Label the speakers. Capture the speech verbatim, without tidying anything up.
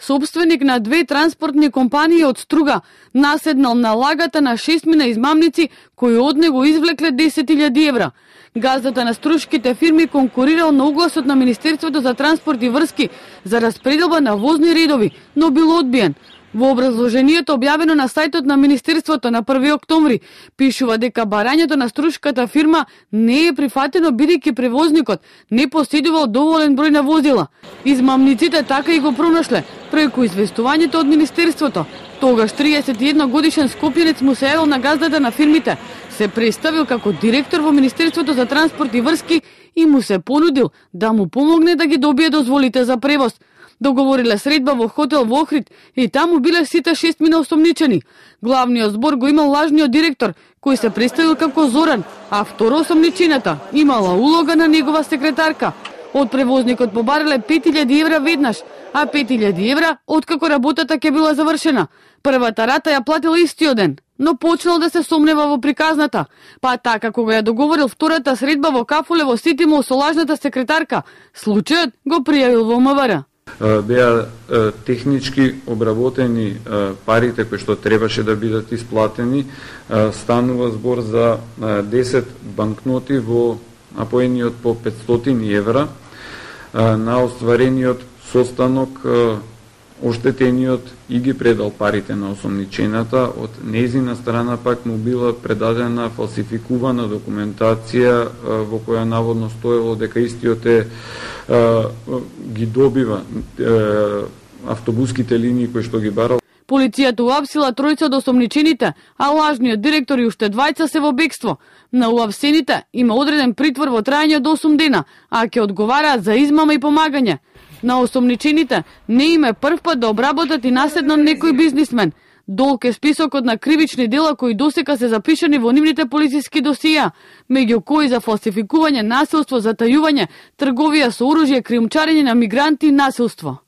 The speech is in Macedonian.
Speaker 1: собственик на две транспортни компании од Струга, наседнал на лагата на шестмина измамници кои од него извлекле десет илјади евра. Газдата на струшките фирми конкурирал на огласот на Министерството за транспорт и врски за распределба на возни редови, но бил одбиен. Во образложението објавено на сајтот на Министерството на први октомври пишува дека барањето на струшката фирма не е прифатено бидејќи превозникот не поседувал доволен број на возила. Измамниците така и го пронашле преку известувањето од Министерството. Тогаш триесет и една годишен скопјанец му се јавил на газдата на фирмите, се представил како директор во Министерството за транспорт и врски и му се понудил да му помогне да ги добие дозволите за превоз. Договориле средба во хотел во Охрид и таму биле сите шестмина осомничени. Главниот збор го имал лажниот директор, кој се представил како Зоран, а второ осомничената имала улога на негова секретарка. Од превозникот побарале пет илјади евра веднаш, а пет илјади евра откако работата ќе била завршена. Првата рата ја платил истиот ден, но почнал да се сомнева во приказната. Па така кога ја договорил втората средба во Кафулево, сетимо со лажната секретарка, случајот го пријавил во МВР.
Speaker 2: Беа технички обработени парите кои што требаше да бидат исплатени. Станува збор за десет банкноти во напоениот по петстотини евра, на остварениот состанок оштетениот и ги предал парите на осомничената. Од нејзина страна пак му била предадена фалсификувана документација во која наводно стоело дека истиот е ги добива автобуските линии кои што ги барал.
Speaker 1: Полицијата уапсила тројца од осомничените, а лажниот директор и уште двајца се во бегство. На уапсените има одреден притвор во трајање од осум дена, а ќе одговараат за измама и помагање. На осомничените не име прв пат да обработат и наседнал некој бизнисмен. Долг е списокот на кривични дела кои досека се запишани во нивните полициски досија, меѓу кои за фалсификување, насилство, затајување, трговија со оружје, криумчарење на мигранти и насилство.